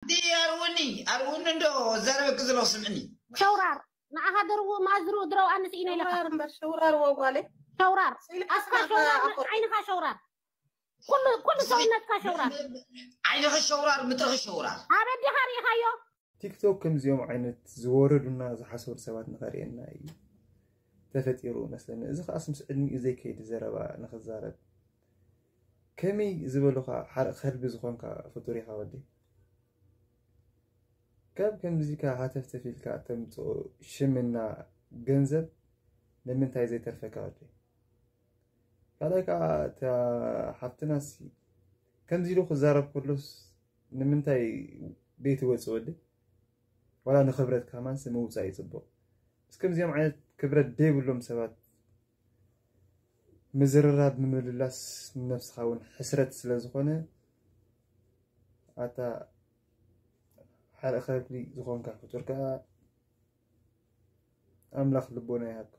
ኣርውኒ ኣርውኒ እንዶ ዘረበክ ዘሎ ስምዕኒ። ሸውራር ንዓኻ ደርው ማዝሩ ድረው ኣንስ ኢነ ኢለካ ሸውራር እምበር ሸውራር ወጓሌ ሸውራር ስኢልካ ኣፍካ ስማ ሸውራር ኣኮ- ዓይንኻ ሸውራር ኩሉ ኩሉ ሰውነትካ ሸውራር ዓይንኺ ሸውራር ምጥርኺ ሸውራር። ኣበዲኻ ርኢኻዮ ቲክቶክ ከምዚኦም ዓይነት ዝወረዱና ዝሓሰሩ ሰባት ንኸርእየና እዩ ተፈጢሩ መስለኒ። እዚ ከዓስ ምስ ዕድሚኡ ዘይከይድ ዘረባ ንኽዛረብ ከመይ ዝበሉኻ ሓርቕ ከልቢ ዝኾንካ ፍጡር ኢኻ ወዲ። ካብ ከምዚካ ሃተፍተፍ ኢልካ ተምፅኦ ሽምና ገንዘብ ንምንታይ ዘይተርፈካ ወዲ። ካልኣይ ከዓ እታ ሓፍትናሲ ከምዚ ኢሉ ክዛረብ ከሎስ ንምንታይ ቤት ወፂ ወዲ ዋላ ንክብረት ከማንስ ምውፃእ እዩ ፅቡቅ። ምስ ከምዚኦም ዓይነት ክብረት ደይብሎም ሰባት ምዝርራብ ምምልላስ ንነብስኻ እውን ሕስረት ስለ ዝኾነ ኣታ ሓደ ከብሊ ዝኾንካ ፍጡር ከዓ ኣምላኽ ልቦና ይሃብካ።